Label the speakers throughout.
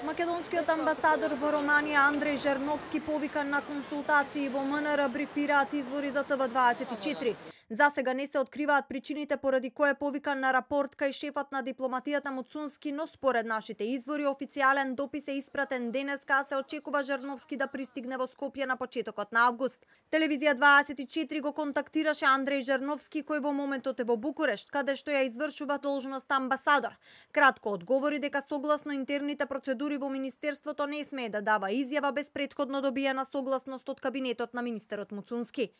Speaker 1: Македонскиот амбасадор во Романија Андреј Жерновски повикан на консултации во МНР брифираат извори за ТВ24. За сега не се откриваат причините поради кој е повикан на рапорт кај шефот на дипломатијата Муцунски, но според нашите извори официјален допис е испратен денеска, а се очекува Жерновски да пристигне во Скопје на почетокот на август. Телевизија 24 го контактираше Андреј Жерновски, кој во моментот е во Букурешт, каде што ја извршува должноста амбасадор. Кратко одговори дека согласно интерните процедури во министерството не смее да дава изјава без претходно добиена согласност од кабинетот на министерот Муцунски.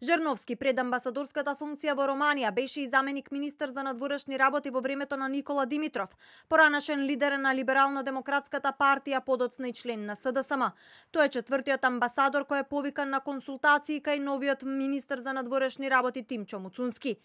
Speaker 1: Жерновски пред амбасадорската функција во Романија беше и заменик министер за надворешни работи во времето на Никола Димитров, поранашен лидер на Либерално-демократската партија, подоцна и член на СДСМ. Тој е четвртиот амбасадор кој е повикан на консултации кај новиот министер за надворешни работи Тимчо Муцунски.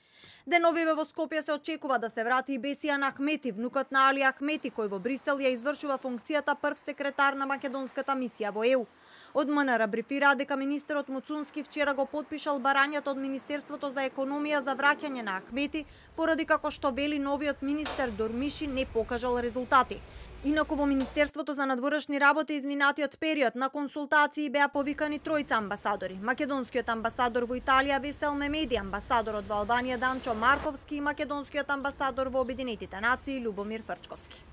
Speaker 1: Деновиве во Скопје се очекува да се врати и Бесијан Ахмети, внукот на Али Ахмети, кој во Брисел ја извршува функцијата прв секретар на македонската мисија во ЕУ. Од МНР брифира дека министерот Муцунски вчера го потпишал барањето од Министерството за економија за враќање на Ахмети, поради како што вели новиот министер Дормиши не покажал резултати. Инаку во Министерството за надворешни работи изминатиот период на консултации беа повикани тројца амбасадори: македонскиот амбасадор во Италија Весел Мемеди, амбасадорот во Албанија Данчо Марковски и македонскиот амбасадор во Обединетите нации Љубомир Фрчковски.